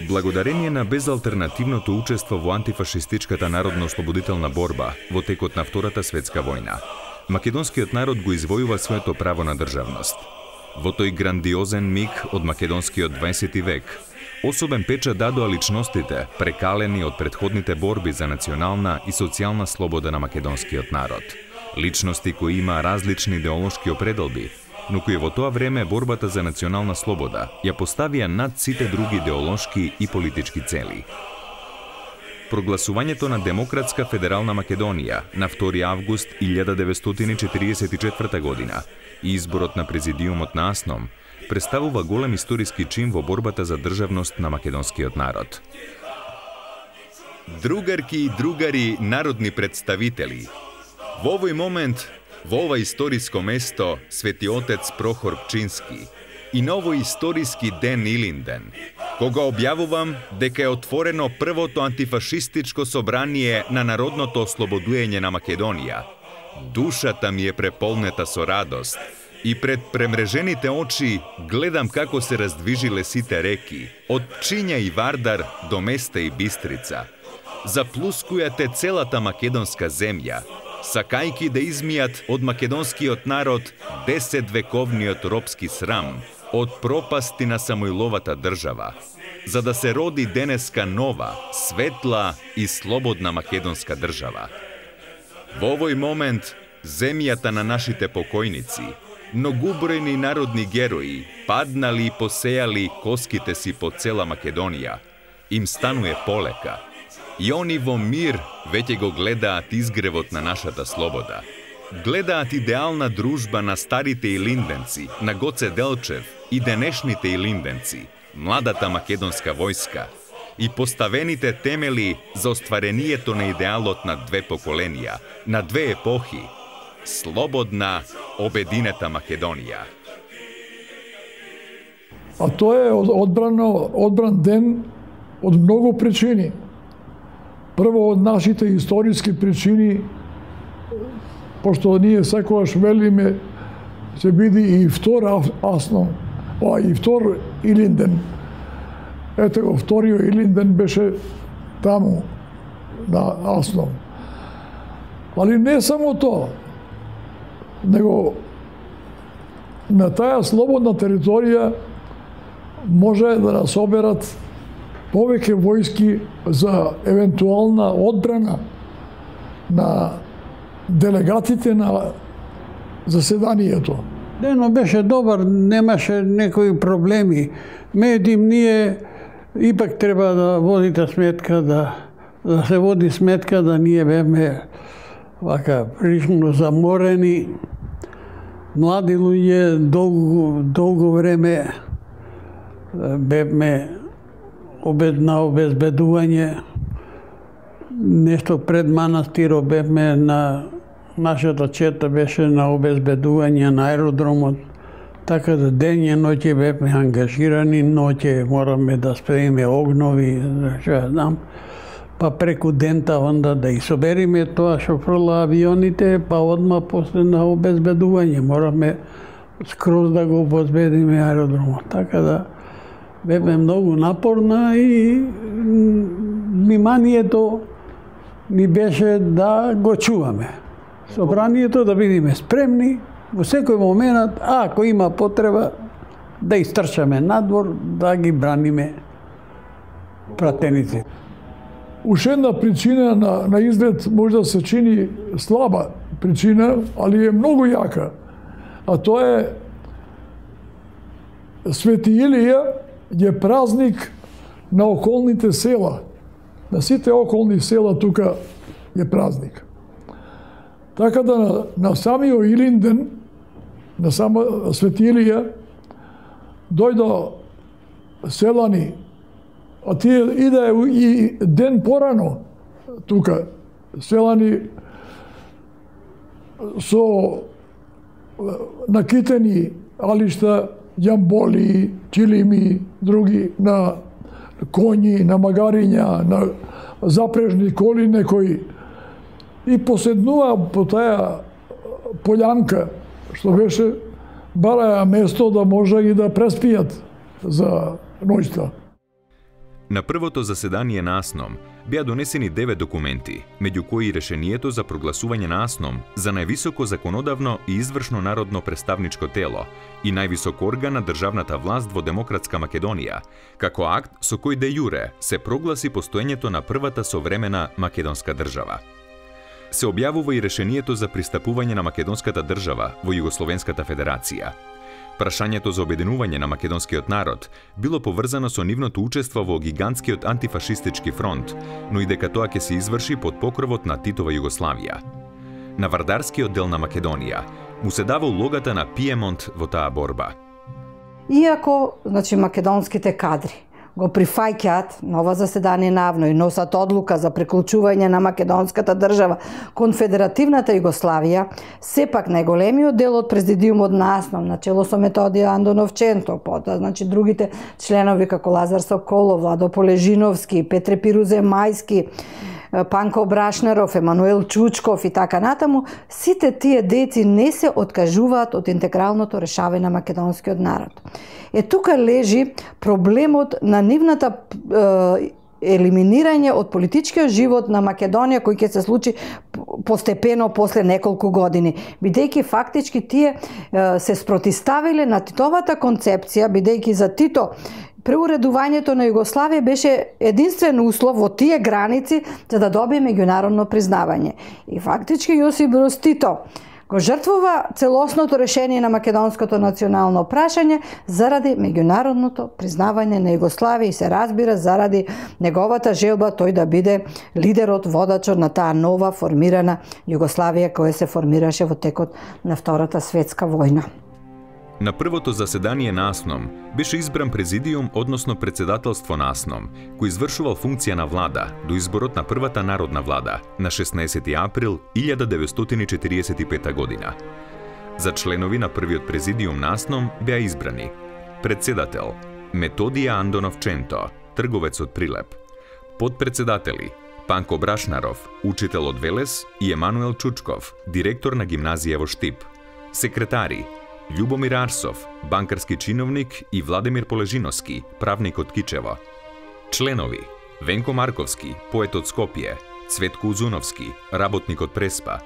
Благодарение на безалтернативното учество во антифашистичката народно-ослободителна борба во текот на Втората светска војна, македонскиот народ го извојува своето право на државност. Во тој грандиозен миг од македонскиот 20 век, особен печат дадоа личностите, прекалени од претходните борби за национална и социјална слобода на македонскиот народ. Личности кои има различни идеолошки определби, но кои во тоа време борбата за национална слобода ја поставија над сите други идеолошки и политички цели. Прогласувањето на Демократска федерална Македонија на 2 август 1944 година и изборот на президиумот на АСНОМ представува голем историски чин во борбата за државност на македонскиот народ. Другарки и другари народни представители, во овој момент, во ова историско место, Свети Отец Прохор Пчински и на овој историски ден Илинден, кога објавувам дека е отворено првото антифашистичко собрание на народното ослободување на Македонија, душата ми е преполнета со радост и пред премрежените очи гледам како се раздвижиле сите реки, од Пчиња и Вардар до Места и Бистрица, заплускујате целата македонска земја, сакајки да измијат од македонскиот народ 10-вековниот робски срам, од пропасти на Самоиловата држава, за да се роди денеска нова, светла и слободна македонска држава. Во овој момент, земјата на нашите покојници, многубројни народни герои, паднали и посејали коските си по цела Македонија, им стануе полека. И они во мир веќе го гледаат изгревот на нашата слобода. Гледаат идеална дружба на старите илинденци, на Гоце Делчев и денешните илинденци, младата македонска војска и поставените темели за остварението на идеалот на две поколенија, на две епохи, слободна, обединета Македонија. А тоа е одбран ден од многу причини. Прво од нашите историски причини, пошто ние секогаш велиме се биде и втор АСНОМ, и втор Илинден. Ете го, вториот Илинден беше таму, на АСНОМ. Али не само тоа, него на таа слободна територија може да нас соберат повеќе војски за евентуална одбрана на делегатите на заседанието. Денот беше добар, немаше некои проблеми. Меѓутоа ние ипак треба да водите сметка, да се води сметка да ние беме вака прилично заморени, млади луѓе, долго време беме на обезбедување, нешто пред манастирот бевме на нашата чета беше на обезбедување на аеродромот, така да ден и ноќе бевме ангажирани, ноќе мораме да спремиме огнови, што ја знам, па преку дента онда да собериме тоа што фрла авионите, па одма после на обезбедување мораме скроз да го обезбедиме аеродромот, така да бевме многу напорна и вниманието ни беше да го чуваме. Собранието да бидеме спремни во секој момент, ако има потреба, да истрчаме надвор, да ги браниме пратеници. Уште една причина на изглед може да се чини слаба причина, али е многу јака. А тоа е Свети Илија е празник на околните села. На сите околни села тука е празник. Така да на самиот Илинден, на сама Свети Илија, дојдо селани, а тие иде и ден порано тука, селани со накитени алишта, јамболи, чилими, други, на коњи, на магариња, на запрежни коли некои, и поседнува по таа полјанка, што беше бараја место да може и да преспијат за ноќта. На првото заседание на АСНОМ беа донесени 9 документи, меѓу кои решението за прогласување на АСНОМ за највисоко законодавно и извршно народно представничко тело и највисок орган на државната власт во Демократска Македонија, како акт со кој де јуре се прогласи постоењето на првата современа македонска држава. Се објавува и решението за пристапување на македонската држава во Југословенската федерација. Прашањето за обединување на македонскиот народ било поврзано со нивното учество во гигантскиот антифашистички фронт, но и дека тоа ќе се изврши под покровот на Титова Југославија. На вардарскиот дел на Македонија му се дава улогата на Пиемонт во таа борба. Иако, македонските кадри го прифаќаат на ова заседание навно и носат одлука за приклучување на македонската држава кон Федеративната Југославија, сепак најголемиот дел од президиумот на АСНОМ, начело со Методија Андонов Ченто, потоа другите членови како Лазар Соколов, Владо Полежиновски, Петре Пирузе Мајски, Панко Брашнаров, Емануел Чучков и така натаму, сите тие дејци не се откажуваат од интегралното решавање на македонскиот народ. Тука лежи проблемот на нивната елиминирање од политичкиот живот на Македонија, кој ќе се случи постепено после неколку години, бидејќи фактички тие се спротиставиле на Титовата концепција, бидејќи за Тито преуредувањето на Југославија беше единствен услов во тие граници за да добие меѓународно признавање. И фактички Јосип Брз Тито го жртвува целосното решение на македонското национално прашање заради меѓународното признавање на Југославија и се разбира заради неговата желба тој да биде лидерот, водачот на таа нова формирана Југославија која се формираше во текот на Втората светска војна. На првото заседание на АСНОМ беше избран президиум, односно председателство на АСНОМ, кој извршувал функција на влада до изборот на првата народна влада на 16 април 1945 година. За членови на првиот президиум на АСНОМ беа избрани председател Методија Андонов Ченто, трговец од Прилеп, подпредседатели Панко Брашнаров, учител од Велес и Емануел Чучков, директор на гимназија во Штип, секретари Љубомир Арсов, банкарски чиновник и Владимир Полежиновски, правник од Кичево. Членови Венко Марковски, поет од Скопје, Цветко Узуновски, работник од Преспа,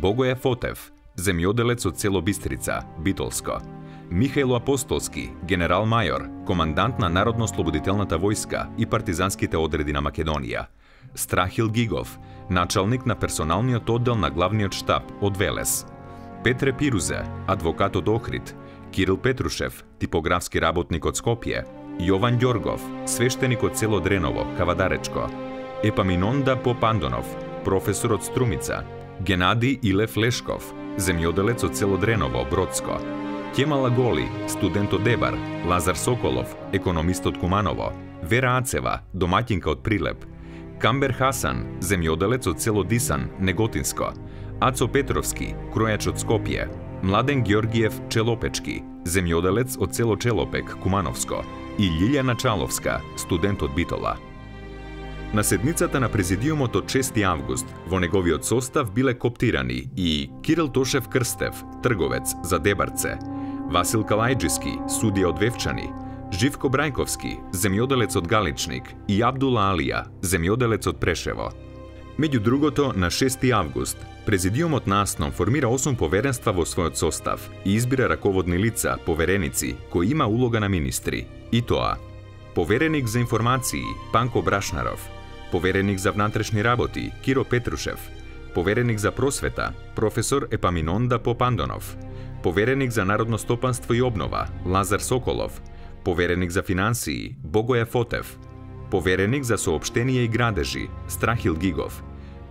Богоја Фотев, земјоделец од село Бистрица, Битолско, Михајло Апостолски, генерал-мајор, командант на Народно-слободителната војска и партизанските одреди на Македонија, Страхил Гигов, началник на персоналниот оддел на главниот штаб од Велес, Петре Пирузе, адвокат од Охрид, Кирил Петрушев, типографски работник од Скопје, Јован Ѓоргов, свештеник од село Дреново, Кавадаречко, Епаминонда Попандонов, професор од Струмица, Генади Илев Лешков, земјоделец од село Дреново, Бродско, Кемала Голи, студент од Дебар, Лазар Соколов, економист од Куманово, Вера Ацева, домаќинка од Прилеп, Камбер Хасан, земјоделец од село Дисан, Неготинско, Ацо Петровски, кројач од Скопје, Младен Ѓоргиев Челопечки, земјоделец од село Челопек, Кумановско, и Лилјана Чаловска, студент од Битола. На седницата на президиумот од 6 август во неговиот состав биле коптирани и Кирил Тошев Крстев, трговец за Дебарце, Васил Калајџиски, судија од Вевчани, Живко Брајковски, земјоделец од Галичник и Абдула Алија, земјоделец од Прешево. Меѓу другото, на 6 август, президиумот на АСНОМ формира 8 поверенства во својот состав и избира раководни лица, повереници, кои има улога на министри. И тоа: повереник за информации Панко Брашнаров, повереник за внатрешни работи Киро Петрушев, повереник за просвета професор Епаминонда Попандонов, повереник за народно стопанство и обнова Лазар Соколов, повереник за финансии Богоја Фотев, повереник за соопштенија и градежи Страхил Гигов,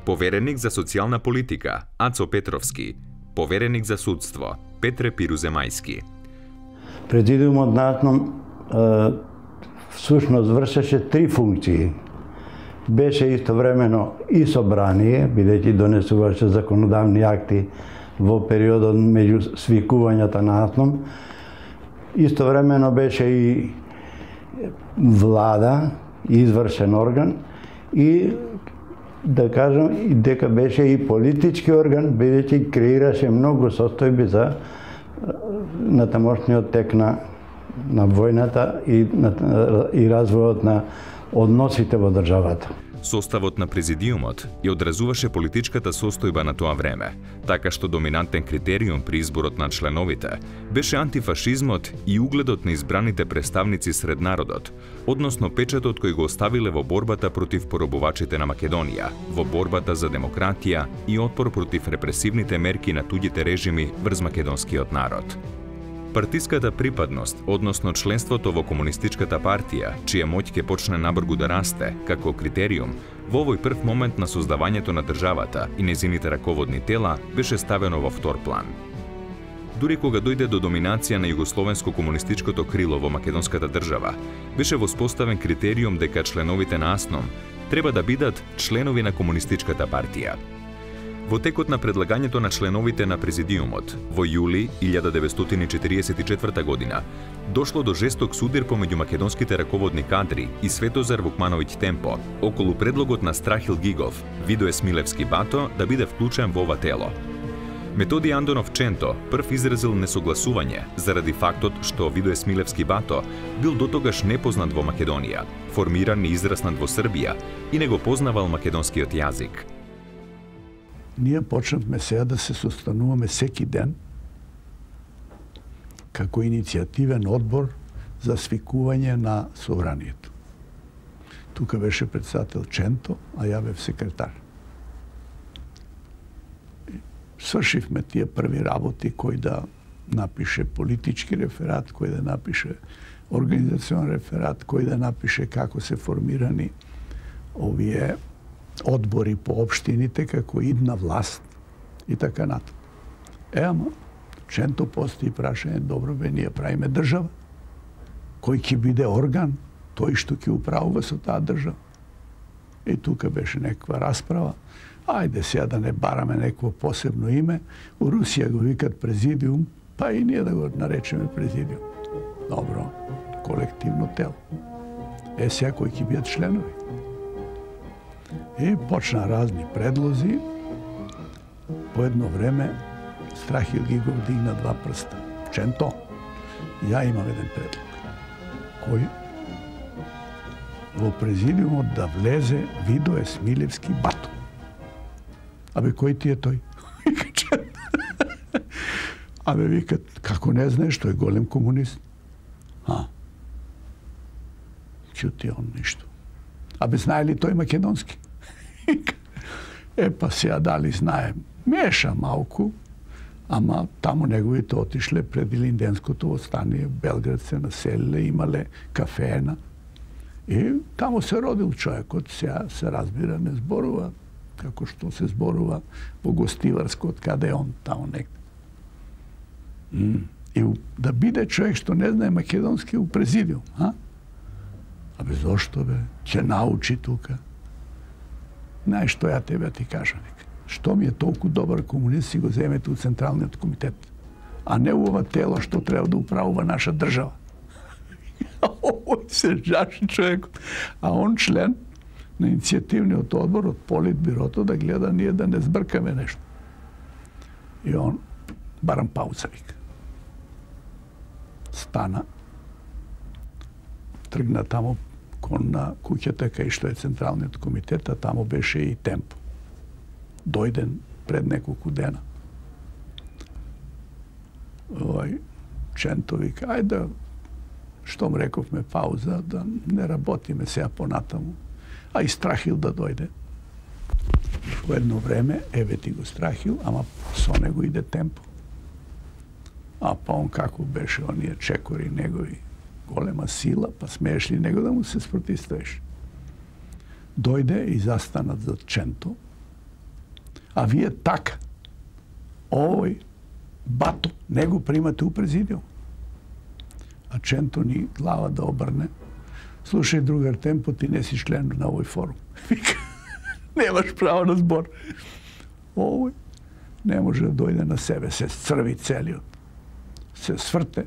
повереник за социјална политика Ацо Петровски, повереник за судство Петре Пирузе Мајски. Президиумот на АСНОМ всушност вршеше 3 функции. Беше истовремено и собрание, бидејќи донесуваше законодавни акти во периодот меѓу свикувањата на АСНОМ. Истовремено беше и влада, извршен орган и да кажам и дека беше и политички орган, бидејќи креираше многу состојби за на тамошниот тек на војната и развојот на односите во државата. Составот на президиумот ја одразуваше политичката состојба на тоа време, така што доминантен критериум при изборот на членовите беше антифашизмот и угледот на избраните представници сред народот, односно печатот кој го оставиле во борбата против поробувачите на Македонија, во борбата за демократија и отпор против репресивните мерки на туѓите режими врз македонскиот народ. Партиската припадност, односно членството во Комунистичката партија, чија моќ ќе почне набргу да расте, како критериум, во овој прв момент на создавањето на државата и незините раководни тела беше ставено во втор план. Дури кога дојде до доминација на југословенско-комунистичкото крило во македонската држава, беше воспоставен критериум дека членовите на АСНОМ треба да бидат членови на Комунистичката партија. Во текот на предлагањето на членовите на президиумот, во јули 1944 година, дошло до жесток судир помеѓу македонските раководни кадри и Светозар Вукмановиќ Темпо околу предлогот на Страхил Гигов, Видое Смилевски Бато да биде вклучен во ова тело. Методи Андонов Ченто прв изразил несогласување заради фактот што Видое Смилевски Бато бил дотогаш непознат во Македонија, формиран и израснат во Србија и не го познавал македонскиот јазик. Ние почнавме сега да се состануваме секи ден како иницијативен одбор за свикување на собранието. Тука беше председател Ченто, а ја бев секретар. Свршивме тие први работи, кој да напише политички реферат, кој да напише организационен реферат, кој да напише како се формирани овие одбори по општините како идна власт и така натаму. Ама, Ченто постои прашање, добро бе, ние правиме држава. Кој ќе биде орган, тој што ќе управува со таа држава. И тука беше некаква расправа. Ајде сега да не бараме некакво посебно име. У Русија го викат президиум, па и ние да го наречеме президиум. Добро, колективно тело. Сега кои ќе бидат членови. И почна разни предлози. По едно време Страхил Гигов дигна два прста. Ченто, ја имам еден предлог. Кој? Во президиумот да влезе Видое Смилевски Бато. Абе, кој ти е тој? Вика Ченто. Абе, викат, како не знаеш, тој е голем комунист. Чути он ништо. Абе, знае ли тој македонски? Па сега дали знаем. Меша малку, ама таму неговите отишле пред Илинденското восстание, Белград се населиле, имале кафена. И таму се родил човекот, сега се разбира, не зборува како што се зборува во Гостиварско, од каде е он, таму некде. И да биде човек што не знае македонски у президиум, Абе, зошто бе? Ќе научи тука. Знаеш што ја тебе ти кажам, што ми е толку добар комунист си го земете у Централниот комитет, а не у ова тело што треба да управува наша држава. Овој се жаши човекот. А он член на иницијативниот одбор од Политбирото да гледа ние да не збркаме нешто. И он барам пауза вика. Стана, тргна таму кон на куќата кај што е Централниот комитет, а таму беше и Темпо. Дојден пред неколку дена. Ченто вика, ајде, штом рековме пауза, да не работиме сега понатаму, а и Страхил да дојде. Во едно време, еве ти го Страхил, ама со него иде Темпо. А па он како беше, оние чекори негови, голема сила, па смееш ли него да му се спротивставиш? Дојде и застанат за Ченто, а вие така, овој Бато, него примате у президиум. А Ченто ни глава да обрне. Слушај, другар Темпо, ти не си член на овој форум. Вика, немаш право на збор. Овој не може да дојде на себе, се црви целиот. Се сврте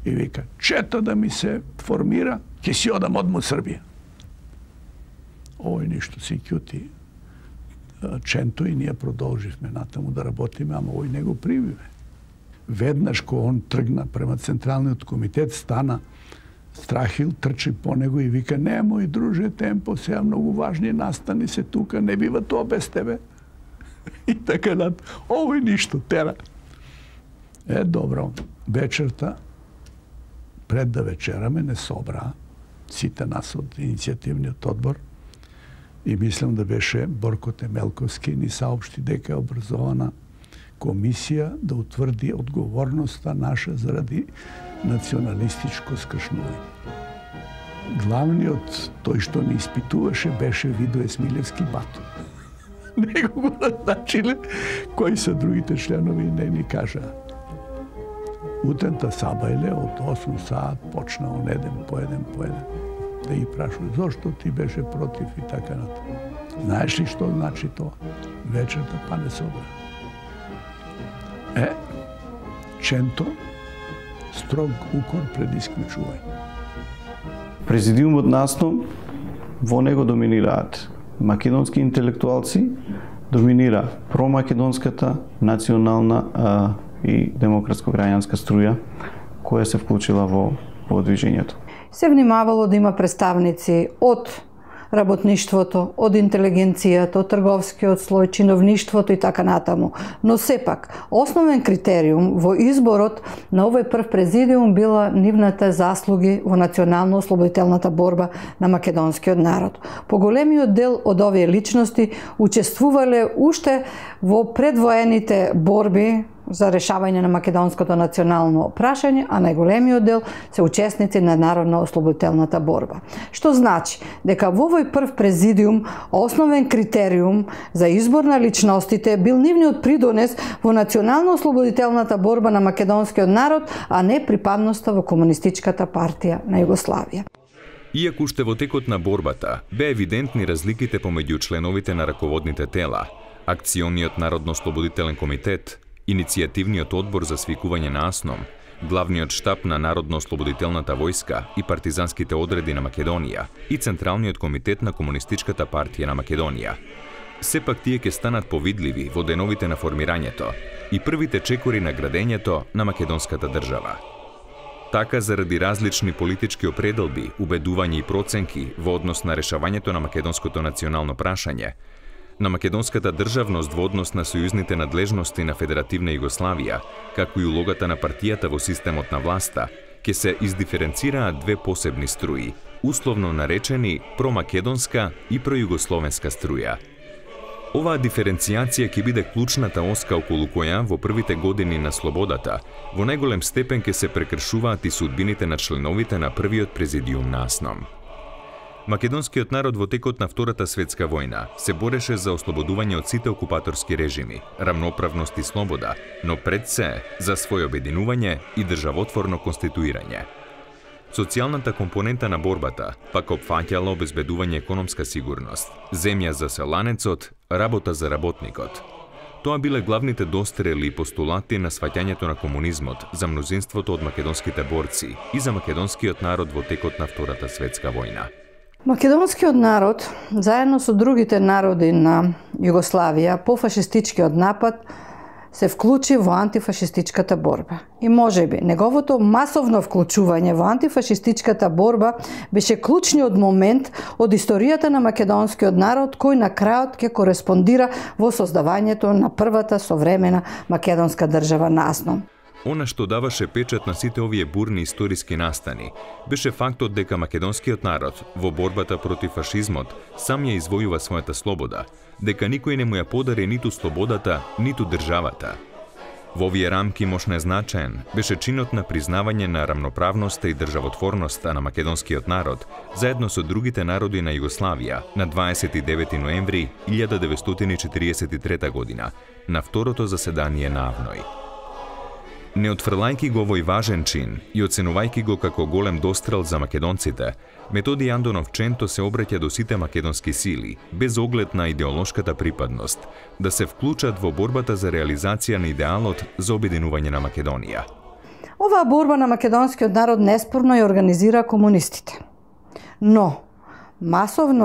и вика, чета да ми се формира, ќе си одам одма Србија. Овој ништо си ќути Ченто и ние продолживме натаму да работиме, ама овој не го примиме. веднаш кога он тргна према Централниот комитет, стана Страхил, трчи по него и вика: "Немој, друже, темпо, сега многу важни настани се тука, не бива тоа без тебе." И така над, овој ништо, тера. Добро, вечерта, пред да вечераме, не собра сите нас од иницијативниот одбор и мислам да беше Борко Темелковски, ни саопшти дека е образована комисија да утврди одговорноста наша заради националистичко скршнување. Главниот, тој што ни испитуваше, беше Видо Есмилевски Бато. Него го назначиле, кои се другите членови не ни кажаа. Утента сабајле од 8 саат почна он еден по еден. Да ги прашува зошто ти беше против и така натаму. Знаеш ли што значи тоа? Вечерта па не собра. Ченто, строг укор пред исклучување. Президиумот насно, во него доминираат македонски интелектуалци, доминира промакедонската национална и демократско-граѓанска струја која се вклучила во движењето. Се внимавало да има представници од работништвото, од интелигенцијата, од трговскиот слој, чиновништвото и така натаму. Но сепак, основен критериум во изборот на овој прв президиум била нивната заслуги во национално-ослободителната борба на македонскиот народ. Поголемиот дел од овие личности учествувале уште во предвоените борби за решавање на македонското национално прашање, а најголемиот дел се учесници на народно-ослободителната борба. Што значи дека во овој прв президиум основен критериум за избор на личностите бил нивниот придонес во национално-ослободителната борба на македонскиот народ, а не припадноста во Комунистичката партија на Југославија. Иако уште во текот на борбата бе евидентни разликите помеѓу членовите на раководните тела, Акциониот народно-ослободителен комитет, Иницијативниот одбор за свикување на АСНОМ, Главниот штаб на Народно-ослободителната војска и партизанските одреди на Македонија и Централниот комитет на Комунистичката партија на Македонија. Сепак тие ќе станат повидливи во деновите на формирањето и првите чекори на градењето на македонската држава. Така, заради различни политички определби, убедувања и проценки во однос на решавањето на македонското национално прашање, на македонската државност во однос на сојузните надлежности на Федеративна Југославија, како и улогата на партијата во системот на власта, ќе се издиференцираат две посебни струи, условно наречени промакедонска и пројугословенска струја. Оваа диференцијација ќе биде клучната оска околу која во првите години на слободата во најголем степен ќе се прекршуваат и судбините на членовите на првиот президиум на АСНОМ. Македонскиот народ во текот на Втората светска војна се бореше за ослободување од сите окупаторски режими, рамноправност и слобода, но пред се за своје обединување и државотворно конституирање. Социјалната компонента на борбата пак опфаќала обезбедување економска сигурност, земја за селанецот, работа за работникот. Тоа биле главните дострели и постулати на сваќањето на комунизмот за мнозинството од македонските борци и за македонскиот народ во текот на Втората светска војна. Македонскиот народ, заедно со другите народи на Југославија, по фашистичкиот напад се вклучи во антифашистичката борба. И можеби, неговото масовно вклучување во антифашистичката борба беше клучниот момент од историјата на македонскиот народ, кој на крајот ќе кореспондира во создавањето на првата современа македонска држава на АСНОМ. Она што даваше печат на сите овие бурни историски настани беше фактот дека македонскиот народ во борбата против фашизмот сам ја извојува својата слобода, дека никој не му ја подари ниту слободата, ниту државата. Во овие рамки мощно значаен беше чинот на признавање на рамноправноста и државотворноста на македонскиот народ заедно со другите народи на Југославија на 29 ноември 1943 година на второто заседание на АВНОј. Не отфрлајќи го овој важен чин и оценувајќи го како голем дострел за македонците, Методи Андонов Ченто се обраќа до сите македонски сили, без оглед на идеолошката припадност, да се вклучат во борбата за реализација на идеалот за обединување на Македонија. Оваа борба на македонскиот народ неспорно ја организира комунистите. Но, масовен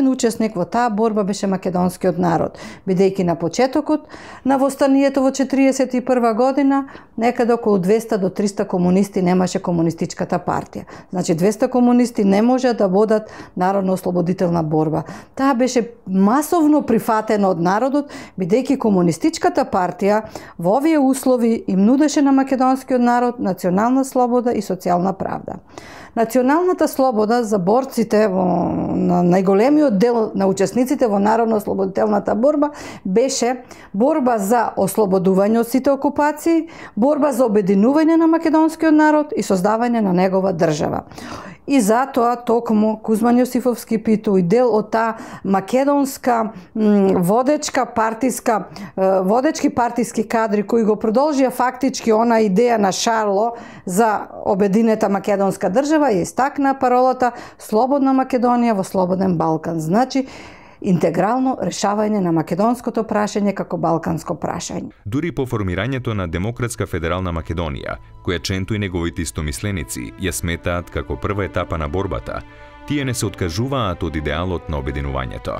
учесник во таа борба беше македонскиот народ, бидејќи на почетокот на востанието во 1941 година некаде околу 200 до 300 комунисти немаше комунистичката партија. Значи 200 комунисти не може да водат народно-ослободителна борба. Таа беше масовно прифатена од народот, бидејќи комунистичката партија во овие услови им нудеше на македонскиот народ национална слобода и социјална правда. Националната слобода за борците на најголемиот дел на учесниците во народно-ослободителната борба беше борба за ослободување од сите окупации, борба за обединување на македонскиот народ и создавање на негова држава. И затоа токму Кузман Јосифовски Питу и дел од таа македонска водечки партиски кадри кои го продолжија фактички она идеја на Шарло за обединета македонска држава и истакна паролата Слободна Македонија во слободен Балкан. Значи, интегрално решавање на македонското прашање како балканско прашање. Дури по формирањето на Демократска федерална Македонија, која Ченто и неговите истомисленици ја сметаат како прва етапа на борбата, тие не се откажуваат од идеалот на обединувањето.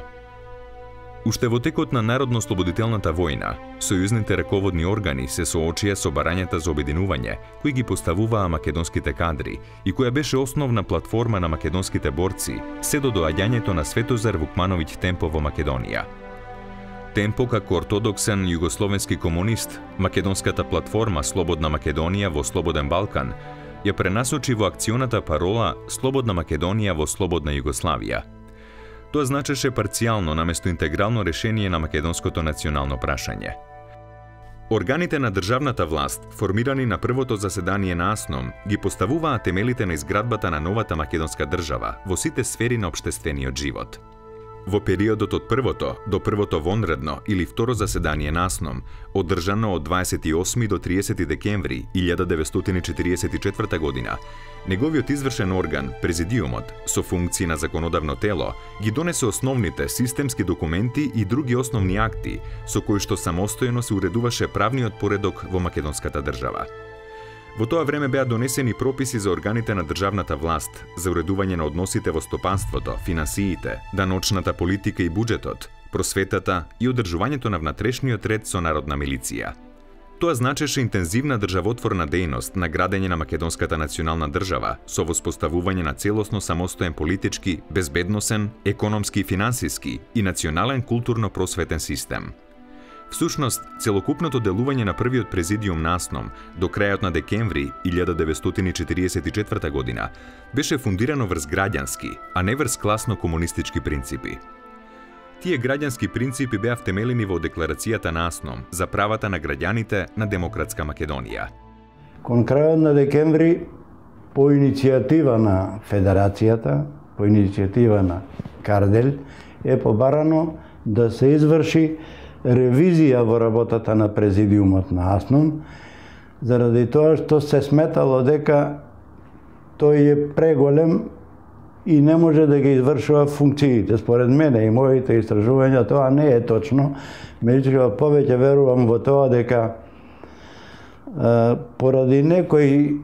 Уште во текот на народно-ослободителната војна, сојузните раководни органи се соочија со барањата за обединување, кои ги поставуваа македонските кадри и која беше основна платформа на македонските борци се до доаѓањето на Светозар Вукмановиќ Темпо во Македонија. Темпо, како ортодоксен југословенски комунист, македонската платформа Слободна Македонија во слободен Балкан ја пренасочи во акционата парола Слободна Македонија во слободна Југославија. Тоа значеше парцијално наместо интегрално решение на македонското национално прашање. Органите на државната власт, формирани на првото заседание на АСНОМ, ги поставуваа темелите на изградбата на новата македонска држава во сите сфери на општествениот живот. Во периодот од првото до првото вонредно или второ заседание на АСНОМ, одржано од 28 до 30 декември 1944 година, неговиот извршен орган, Президиумот, со функции на законодавно тело, ги донесе основните системски документи и други основни акти, со кои што самостојно се уредуваше правниот поредок во македонската држава. Во тоа време беа донесени прописи за органите на државната власт, за уредување на односите во стопанството, финансиите, даночната политика и буџетот, просветата и одржувањето на внатрешниот ред со народна милиција. Тоа значеше интензивна државотворна дејност на градење на македонската национална држава со воспоставување на целосно самостоен политички, безбедносен, економски и финансиски и национален културно-просветен систем. Всушност, целокупното делување на првиот президиум на АСНОМ до крајот на декември 1944 година беше фундирано врз граѓански, а не врз класно-комунистички принципи. Тие граѓански принципи беа втемелени во декларацијата на АСНОМ за правата на граѓаните на Демократска Македонија. Кон крајот на декември, по иницијатива на Федерацијата, по иницијатива на Кардель, е побарано да се изврши ревизија во работата на Президиумот на АСНОМ, заради тоа што се сметало дека тој е преголем и не може да ги извршува функциите. Според мене и моите истражувања тоа не е точно, меѓутоа повеќе верувам во тоа дека поради некои,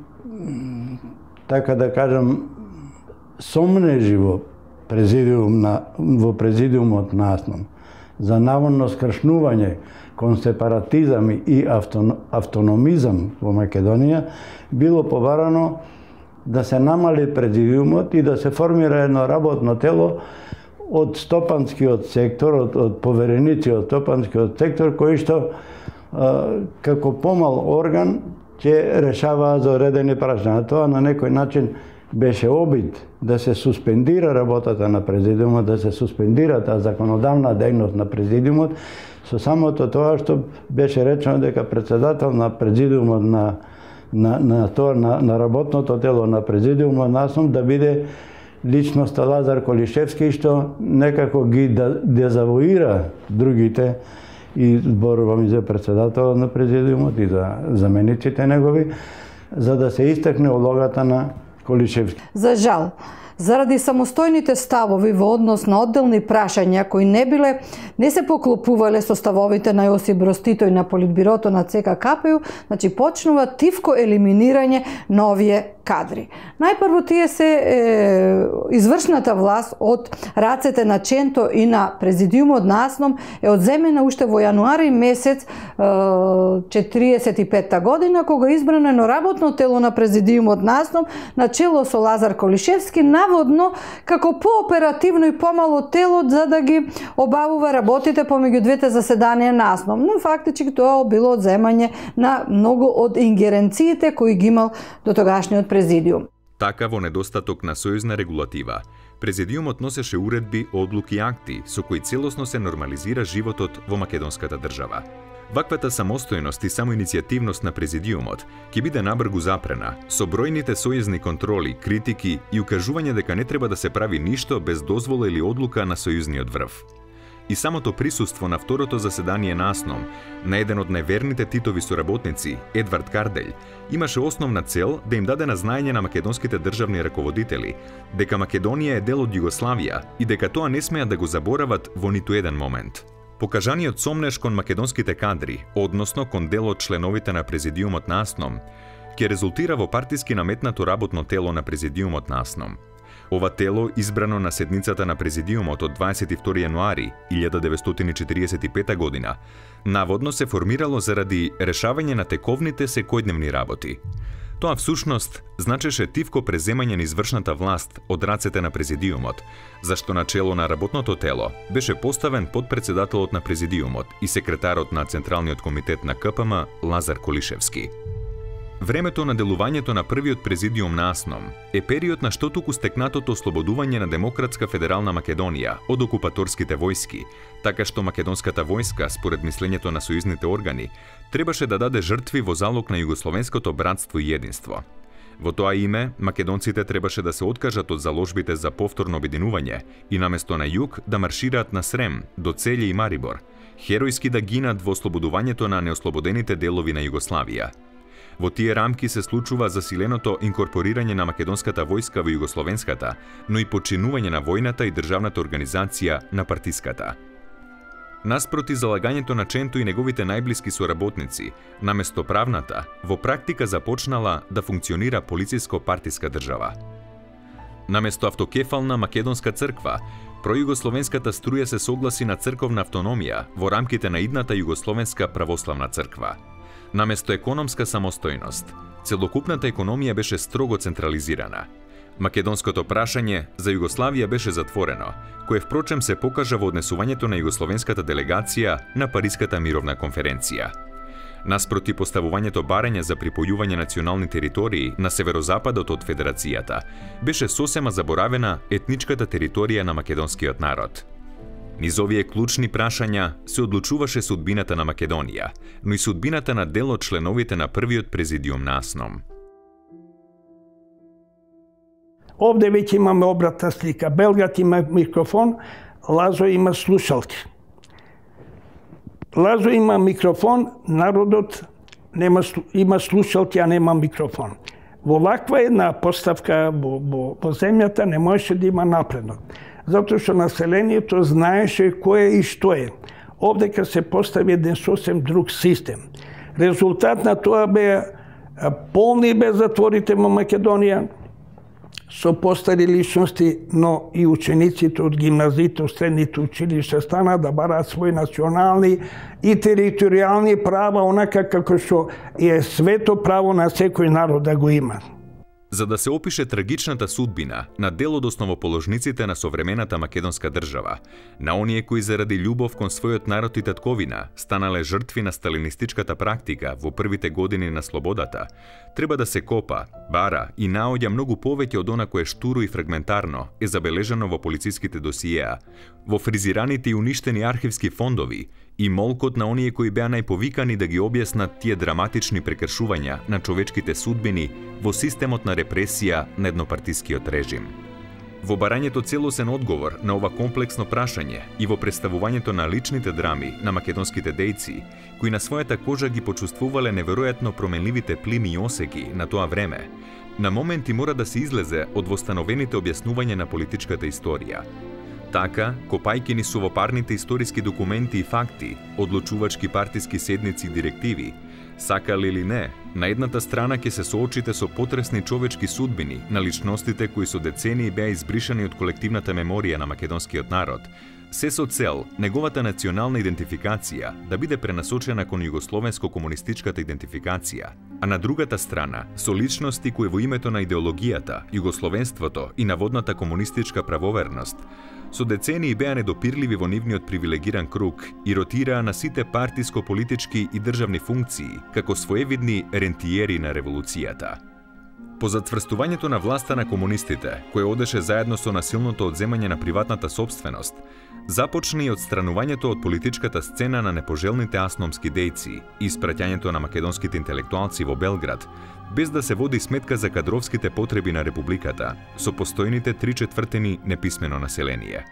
така да кажам, сомнежи во Президиумот на АСНОМ за наводно скршнување кон сепаратизам и автономизам во Македонија, било побарано да се намали Президиумот и да се формира едно работно тело од стопанскиот сектор, од повереници од стопанскиот сектор, кои што како помал орган ќе решаваа за одредени прашања. Тоа на некој начин беше обид да се суспендира работата на Президиумот, да се суспендира таа законодавна дејност на Президиумот, со самото тоа што беше речено дека председател на Президиумот на работното тело на Президиумот на АСНОМ да биде личноста Лазар Колишевски, што некако ги дезавуира другите, и зборувам и за председател на Президиумот и за замениците негови, за да се истакне улогата на Колишевски. За жал, заради самостојните ставови во однос на одделни прашања кои не се поклопувале со ставовите на Јосип Броз Тито и на Политбирото на ЦК-КПУ, значи почнува тивко елиминирање на овие кадри. Најпрво тие се извршната власт од рацете на Ченто и на Президиумот на АСНОМ е одземена уште во јануари месец 45-та година, кога избрано едно работно тело на Президиумот на АСНОМ на чело со Лазар Колишевски, наводно како пооперативно и помало тело за да ги обавува работите помеѓу двете заседанија на АСНОМ. Но фактички тоа било одземање на многу од ингеренциите кои ги имал до тогашниот Президиум. Така, во недостаток на сојузна регулатива, Президиумот носеше уредби, одлуки и акти со кои целосно се нормализира животот во македонската држава. Ваквата самостојност и самоиницијативност на Президиумот ќе биде набргу запрена со бројните сојузни контроли, критики и укажување дека не треба да се прави ништо без дозвола или одлука на сојузниот врв. И самото присуство на второто заседание на АСНОМ на еден од најверните Титови соработници, Едвард Карделј, имаше основна цел да им даде на знаење на македонските државни раководители дека Македонија е дел од Југославија и дека тоа не смеат да го заборават во ниту еден момент. Покажаниот сомнеж кон македонските кадри, односно кон дел од членовите на Президиумот на АСНОМ, ќе резултира во партиски наметнато работно тело на Президиумот на АСНОМ. Ова тело, избрано на седницата на Президиумот од 22 јануари 1945 година, наводно се формирало заради решавање на тековните секојдневни работи. Тоа всушност значеше тивко преземање на извршната власт од рацете на Президиумот, зашто на чело на работното тело беше поставен подпредседателот на Президиумот и секретарот на Централниот комитет на КПМ Лазар Колишевски. Времето на делувањето на првиот Президиум на АСНОМ е период на штотуку стекнатото ослободување на Демократска федерална Македонија од окупаторските војски, така што македонската војска, според мислењето на сојузните органи, требаше да даде жртви во залог на југословенското братство и единство. Во тоа име, македонците требаше да се откажат од заложбите за повторно обединување и наместо на југ да маршираат на Срем, до Целје и Марибор, херојски да гинат во ослободувањето на неослободените делови на Југославија. Во тие рамки се случува засиленото инкорпорирање на македонската војска во југословенската, но и починување на војната и државната организација на партиската. Наспроти залагањето на Ченто и неговите најблиски соработници, наместо правната, во практика започнала да функционира полициско-партиска држава. Наместо автокефална македонска црква, пројугословенската струја се согласи на црковна автономија во рамките на идната југословенска православна црква. Наместо економска самостојност, целокупната економија беше строго централизирана. Македонското прашање за Југославија беше затворено, кое впрочем се покажа во однесувањето на југословенската делегација на Париската мировна конференција. Наспроти поставувањето барања за припојување национални територии на северозападот од Федерацијата, беше сосема заборавена етничката територија на македонскиот народ. Низ овие клучни прашања се одлучуваше судбината на Македонија, но и судбината на дел од членовите на првиот Президиум на АСНОМ. Овде веќе имаме обратна слика. Белгат има микрофон, Лазо има слушалки. Лазо има микрофон, народот има слушалки, а нема микрофон. Во ваква една поставка во земјата не можеше да има напредок. Затоа што населението знаеше кој е и што е. Овде ка се постави еден сосем друг систем. Резултат на тоа беа полни бе затворите во Македонија, со постари личности, но и учениците од гимназиите, средните училишта стана да бараат своји национални и територијални права, онака како што е свето право на секој народ да го има. За да се опише трагичната судбина на дел од основоположниците на современата македонска држава, на оние кои заради љубов кон својот народ и татковина станале жртви на сталинистичката практика во првите години на слободата, треба да се копа, бара и наоѓа многу повеќе од она кое штуро и фрагментарно е забележано во полициските досиеа, во фризираните и уништени архивски фондови и молкот на оние кои беа најповикани да ги објаснат тие драматични прекршувања на човечките судбини во системот на репресија на еднопартискиот режим. Во барањето целосен одговор на ова комплексно прашање и во представувањето на личните драми на македонските дејци, кои на својата кожа ги почувствувале неверојатно променливите плими и осеки на тоа време, на моменти мора да се излезе од востановените објаснувања на политичката историја. Така, копајки ни сувопарните историски документи и факти, одлучувачки партиски седници и директиви, сакали или не, на едната страна ќе се соочите со потресни човечки судбини на личностите кои со децении беа избришани од колективната меморија на македонскиот народ, се со цел неговата национална идентификација да биде пренасочена кон југословенско-комунистичката идентификација, а на другата страна со личности кои во името на идеологијата, југословенството и наводната комунистичка правоверност со децении беа недопирливи во нивниот привилегиран круг и ротираа на сите партиско-политички и државни функции како своевидни рентиери на револуцијата. По затврстувањето на власта на комунистите, кој одеше заедно со насилното одземање на приватната сопственост, започна и одстранувањето од политичката сцена на непожелните асномски дејци и испраќањето на македонските интелектуалци во Белград, без да се води сметка за кадровските потреби на републиката, со постојните 3/4 неписмено население.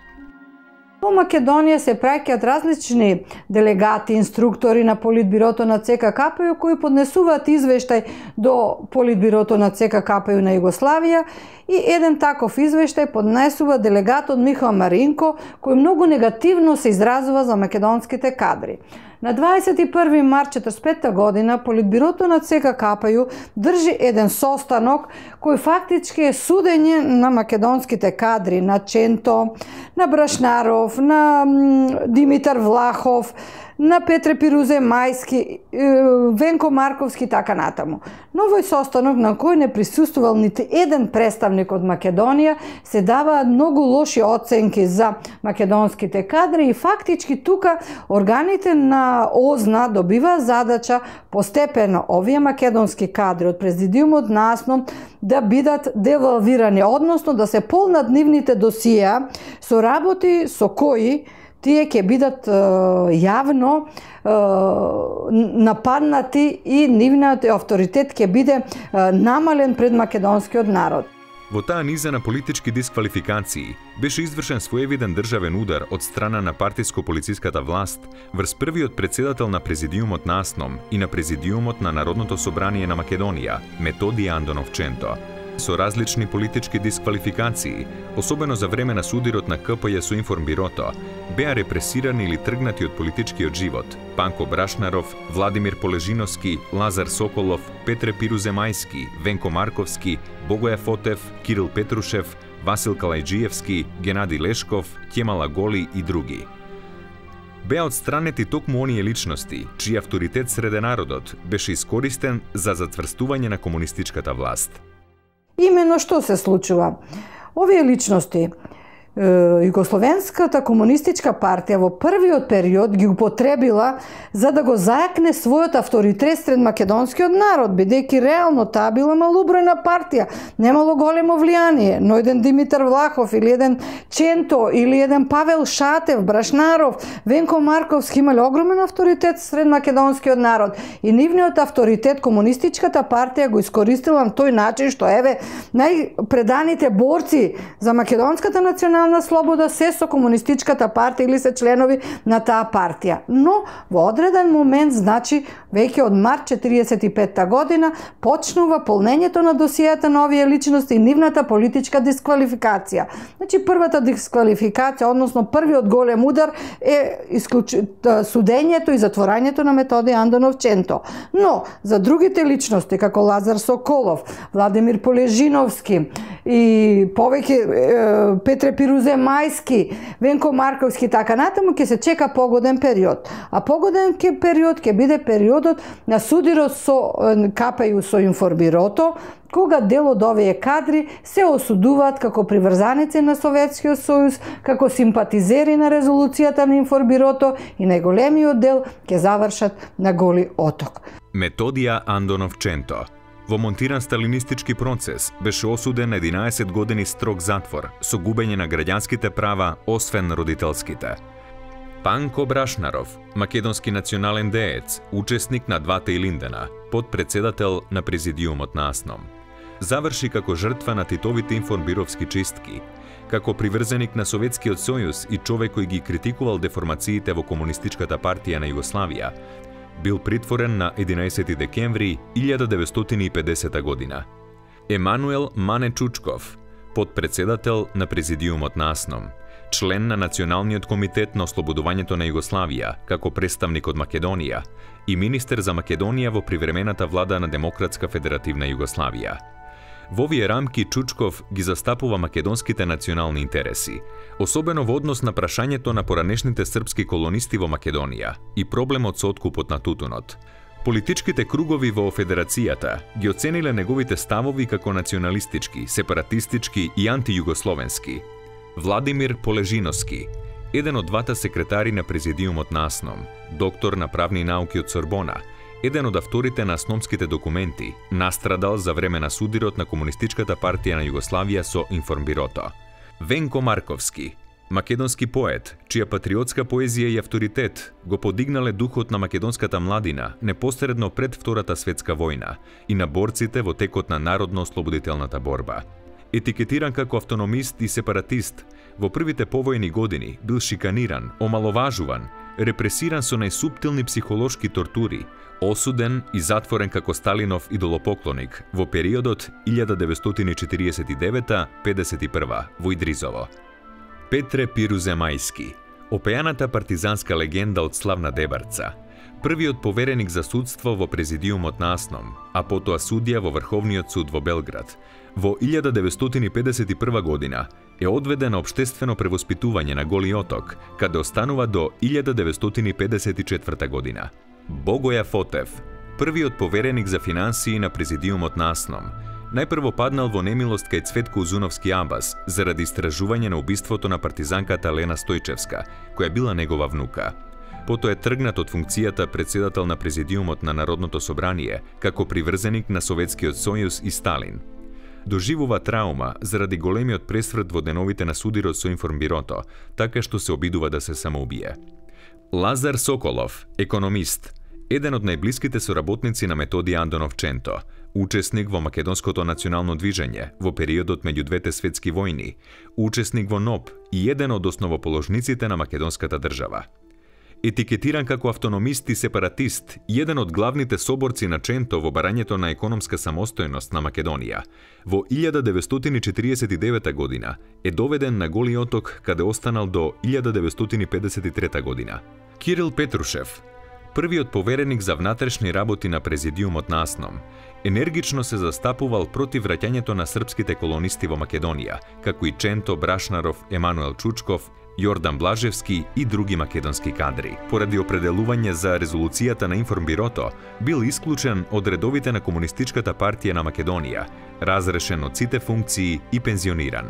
Во Македонија се праќаат различни делегати, инструктори на Политбирото на ЦК-КПЮ кои поднесуваат извештај до Политбирото на ЦК-КПЮ на Југославија и еден таков извештај поднесува делегатот Михаил Маринко кој многу негативно се изразува за македонските кадри. На 21. март 1945 година Политбирото на ЦК-КПЮ држи еден состанок кој фактички е судење на македонските кадри, на Ченто, на Брашнаров, на Димитар Влахов, на Петре Пирузе Мајски, Венко Марковски и така натаму. Но овој состанок на кој не присуствувал нити еден представник од Македонија, се даваат многу лоши оценки за македонските кадри и фактички тука органите на ОЗНА добива задача постепено овие македонски кадри од президиумот на АСНОМ да бидат девалвирани, односно да се полнат нивните досија со работи со кои тие ќе бидат јавно нападнати и нивниот авторитет ќе биде намален пред македонскиот народ. Во таа низа на политички дисквалификации беше извршен своевиден државен удар од страна на партиско-полициската власт врз првиот председател на президиумот на АСНОМ и на президиумот на Народното собрание на Македонија, Методија Андонов Ченто. Со различни политички дисквалификации, особено за време на судирот на КПЈ со Информбирото, беа репресирани или тргнати од политичкиот живот Панко Брашнаров, Владимир Полежиновски, Лазар Соколов, Петре Пирузе Мајски, Венко Марковски, Богоја Фотев, Кирил Петрушев, Васил Калајджиевски, Генади Лешков, Кемала Голи и други. Беа отстранети токму оние личности, чиј авторитет среде народот беше искористен за затврстување на комунистичката власт. Имено што се случува? Овие личности, Југословенската комунистичка партија во првиот период ги употребила за да го зајакне својот авторитет сред македонскиот народ, бидејќи реално таа била малобројна партија, немало големо влијание, но еден Димитар Влахов или еден Ченто или еден Павел Шатев, Брашнаров, Венко Марковски имале огромен авторитет сред македонскиот народ и нивниот авторитет комунистичката партија го искористила на тој начин што еве најпреданите борци за македонската национална слобода се со комунистичката партија или се членови на таа партија. Но во одреден момент, значи веќе од март 1945 година, почнува полнењето на досијата на овие личности и нивната политичка дисквалификација. Значи првата дисквалификација, односно првиот голем удар е судењето и затворањето на Методија Андонов Ченто. Но за другите личности како Лазар Соколов, Владимир Полежиновски и повеќе Петре Пирузе Мајски, Венко Марковски така натаму ќе се чека погоден период. А погоден период ќе биде периодот на судирот со КПЈ со Информбирото, кога дел од овие кадри се осудуваат како приврзаници на Советскиот сојуз, како симпатизери на резолуцијата на Информбирото и најголемиот дел ќе завршат на Голи оток. Методија Андонов Ченто во монтиран сталинистички процес беше осуден на 11 години строг затвор со губење на граѓанските права освен родителските. Панко Брашнаров, македонски национален деец, учесник на двата Илиндена, подпредседател на президиумот на АСНОМ, заврши како жртва на Титовите информбировски чистки, Како приврзеник на Советскиот сојуз и човек кој ги критикувал деформациите во Комунистичката партија на Југославија, бил притворен на 11 декември 1950 година. Емануел Мане Чучков, подпредседател на Президиумот на АСНОМ, член на Националниот комитет на ослободувањето на Југославија како представник од Македонија и министер за Македонија во привремената влада на Демократска федеративна Југославија. Во овие рамки Чучков ги застапува македонските национални интереси, особено во однос на прашањето на поранешните српски колонисти во Македонија и проблемот со откупот на тутунот. Политичките кругови во Федерацијата ги оцениле неговите ставови како националистички, сепаратистички и антијугословенски. Владимир Полежиновски, еден од двата секретари на Президиумот на АСНОМ, доктор на правни науки од Сорбона, еден од авторите на АСНОМските документи, настрадал за време на судирот на Комунистичката партија на Југославија со Информбирото. Венко Марковски, македонски поет, чија патриотска поезија и авторитет го подигнале духот на македонската младина непосредно пред Втората светска војна и на борците во текот на народно-ослободителната борба. Етикетиран како автономист и сепаратист, во првите повојни години бил шиканиран, омаловажуван, репресиран со најсуптилни психолошки тортури, осуден и затворен како Сталинов идолопоклоник во периодот 1949-51 во Идризово. Петре Пируземајски, опејаната партизанска легенда од славна Дебарца, првиот повереник за судство во Президиумот на АСНОМ, а потоа судија во Врховниот суд во Белград, во 1951 година е одведен на општествено превоспитување на Голи Оток, каде останува до 1954 година. Богоја Фотев, првиот повереник за финансии на Президиумот на АСНОМ, најпрво паднал во немилост кај Цветко Узуновски Абас заради истражување на убиството на партизанката Лена Стојчевска, која била негова внука. Потоа е тргнат од функцијата председател на Президиумот на Народното собрание како приврзеник на Советскиот сојуз и Сталин. Доживува траума заради големиот пресврт во деновите на судирот со Информбирото, така што се обидува да се самоубие. Лазар Соколов, економист, еден од најблиските соработници на Методи Андонов Ченто, учесник во Македонското национално движење во периодот меѓу двете светски војни, учесник во НОП и еден од основоположниците на македонската држава. Етикетиран како автономист и сепаратист, еден од главните соборци на Ченто во барањето на економска самостојност на Македонија, во 1949 година е доведен на Голи Оток, каде останал до 1953 година. Кирил Петрушев, првиот повереник за внатрешни работи на Президиумот на АСНОМ, енергично се застапувал против враќањето на српските колонисти во Македонија, како и Ченто Брашнаров, Емануел Чучков, Јордан Блажевски и други македонски кадри. Поради определување за резолуцијата на Информбирото, бил исклучен од редовите на Комунистичката партија на Македонија, разрешен од сите функции и пензиониран.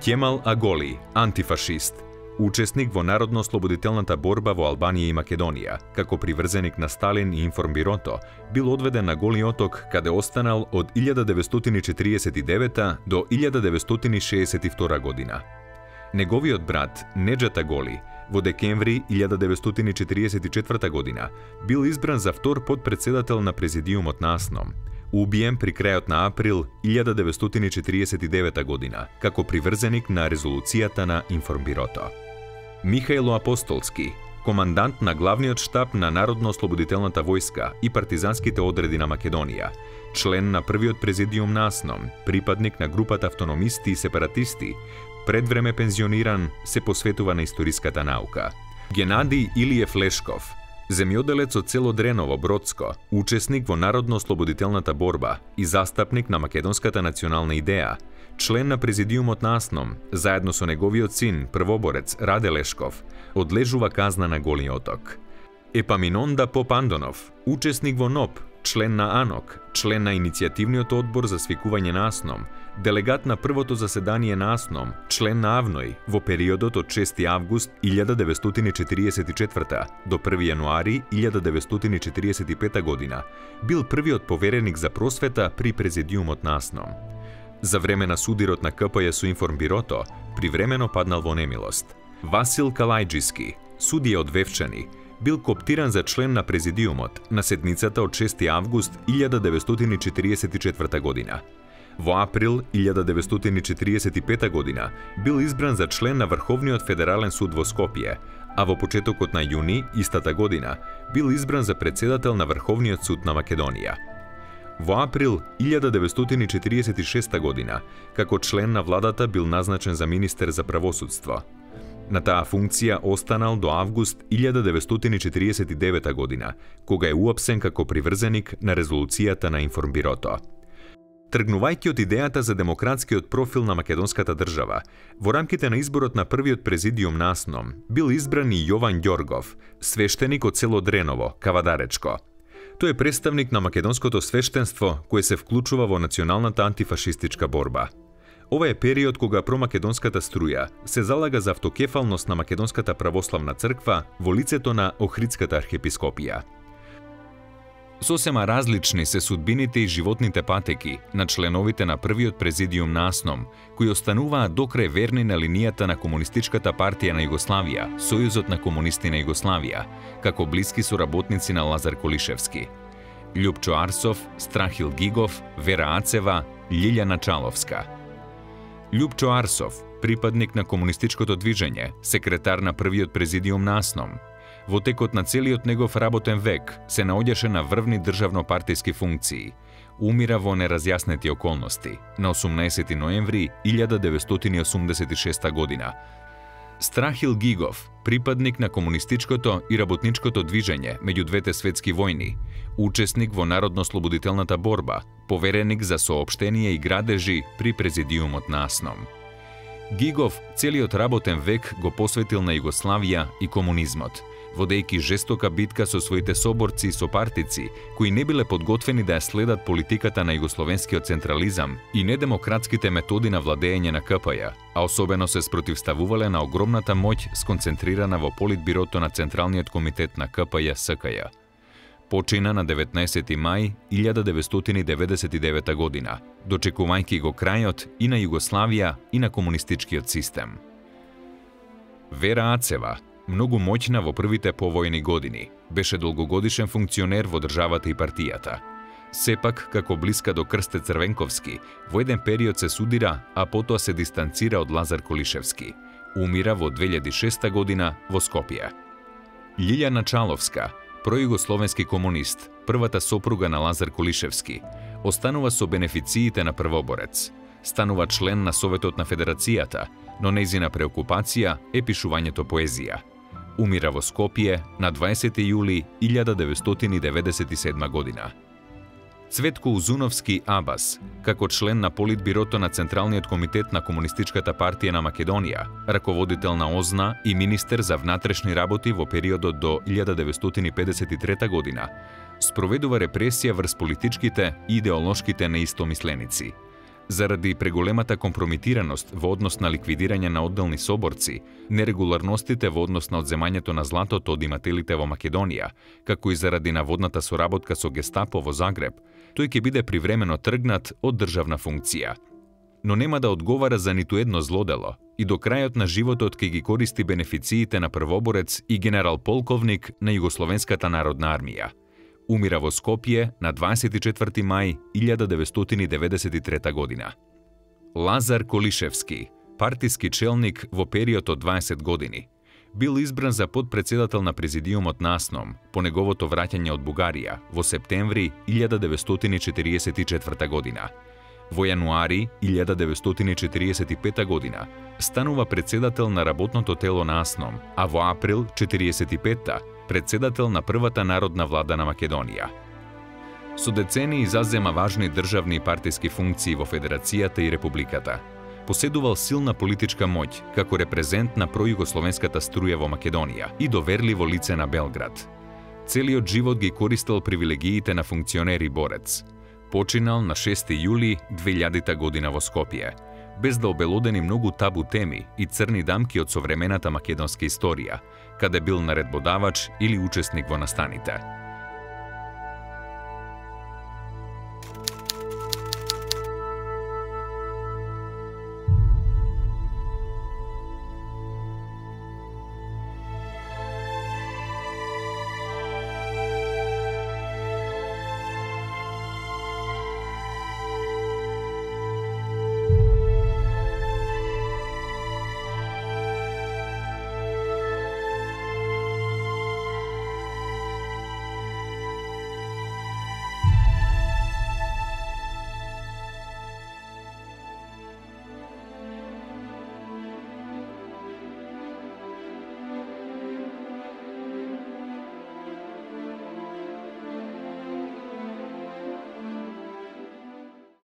Кемал Аголи, антифашист, учесник во народно-ослободителната борба во Албанија и Македонија, како приврзеник на Сталин и Информбирото, бил одведен на Голи Оток, каде останал од 1949 до 1962 година. Неговиот брат, Неджат Аголи, во декември 1944 година, бил избран за втор подпредседател на Президиумот на АСНОМ, убиен при крајот на април 1949 година, како приврзеник на резолуцијата на Информбирото. Михајло Апостолски, командант на главниот штаб на Народно-ослободителната војска и партизанските одреди на Македонија, член на првиот Президиум на АСНОМ, припадник на групата автономисти и сепаратисти, пред време пензиониран, се посветува на историската наука. Генадиј Илиев Лешков, земјоделец од село Дреново, Бродско, учесник во народно-ослободителната борба и застапник на македонската национална идеја, член на Президиумот на АСНОМ, заедно со неговиот син, првоборец Раде Лешков, одлежува казна на Голи Оток. Епаминонда Попандонов, учесник во НОП, член на АНОК, член на иницијативниот одбор за свикување на АСНОМ, делегат на првото заседание на АСНОМ, член на АВНОј во периодот од 6 август 1944 до 1 јануари 1945 година, бил првиот повереник за просвета при Президиумот на АСНОМ. За време на судирот на КПЈ со Информбирото, привремено паднал во немилост. Васил Калајџиски, судија од Вевчани, бил коптиран за член на Президиумот на седницата од 6 август 1944 година. Во април 1945 година бил избран за член на Врховниот федерален суд во Скопје, а во почетокот на јуни истата година бил избран за председател на Врховниот суд на Македонија. Во април 1946 година, како член на владата бил назначен за министер за правосудство. На таа функција останал до август 1949 година, кога е уапсен како приврзеник на резолуцијата на Информбирото. Тргнувајќи од идејата за демократскиот профил на македонската држава, во рамките на изборот на првиот президиум на АСНОМ бил избран и Јован Ѓоргов, свештеник од село Дреново, Кавадаречко. Тој е представник на македонското свештенство кое се вклучува во националната антифашистичка борба. Ова е период кога промакедонската струја се залага за автокефалност на Македонската православна црква во лицето на Охридската архиепископија. Сосема различни се судбините и животните патеки на членовите на првиот президиум на АСНОМ, кои остануваат докрај верни на линијата на Комунистичката партија на Југославија, Сојузот на комунисти на Југославија, како блиски соработници на Лазар Колишевски. Љупчо Арсов, Страхил Гигов, Вера Ацева, Љилјана Чаловска. Љупчо Арсов, припадник на комунистичкото движење, секретар на првиот президиум на АСНОМ. Во текот на целиот негов работен век се наоѓаше на врвни државно-партиски функции. Умира во неразјаснети околности на 18 ноември 1986 година. Страхил Гигов, припадник на комунистичкото и работничкото движење меѓу двете светски војни, учесник во народно-слободителната борба, повереник за соопштение и градежи при президиумот на АСНОМ. Гигов целиот работен век го посветил на Југославија и комунизмот, водејќи жестока битка со своите соборци и сопартици, кои не биле подготвени да ја следат политиката на југословенскиот централизам и недемократските методи на владење на КПЈ, а особено се спротивставувале на огромната моќ сконцентрирана во Политбирото на Централниот комитет на КПЈ СКЈ. Почина на 19 мај 1999 година, дочекувајќи го крајот и на Југославија и на комунистичкиот систем. Вера Ацева, многу моќна во првите повојни години, беше долгогодишен функционер во државата и партијата. Сепак, како блиска до Крсте Црвенковски, во еден период се судира, а потоа се дистанцира од Лазар Колишевски. Умира во 2006 година во Скопје. Љилјана Чаловска, пројугословенски комунист, првата сопруга на Лазар Колишевски, останува со бенефициите на првоборец. Станува член на Советот на Федерацијата, но нејзина преокупација е пишувањето поезија. Умира во Скопје на 20 јули 1997 година. Цветко Узуновски Абас, како член на Политбирото на Централниот комитет на Комунистичката партија на Македонија, раководител на ОЗНА и министер за внатрешни работи во периодот до 1953 година, спроведува репресија врз политичките и идеолошките неистомисленици. Заради преголемата компромитираност во однос на ликвидирање на одделни соборци, нерегуларностите во однос на одземањето на златото од имателите во Македонија, како и заради наводната соработка со Гестапо во Загреб, тој ќе биде привремено тргнат од државна функција. Но нема да одговара за ниту едно злодело и до крајот на животот ќе ги користи бенефициите на првоборец и генерал-полковник на Југословенската народна армија. Умира во Скопје на 24 мај 1993 година. Лазар Колишевски, партиски челник во период од 20 години, бил избран за подпредседател на президиумот на АСНОМ по неговото враќање од Бугарија во септември 1944 година. Во јануари 1945 година станува председател на работното тело на АСНОМ, а во април 1945 председател на првата народна влада на Македонија. Со децении зазема важни државни и партиски функции во Федерацијата и Републиката. Поседувал силна политичка моќ како репрезент на пројугословенската струја во Македонија и доверливо лице на Белград. Целиот живот ги користел привилегиите на функционер и борец. Починал на 6 јули 2000 година во Скопје, без да обелодени многу табу теми и црни дамки од современата македонска историја, каде бил наредбодавач или учесник во настаните.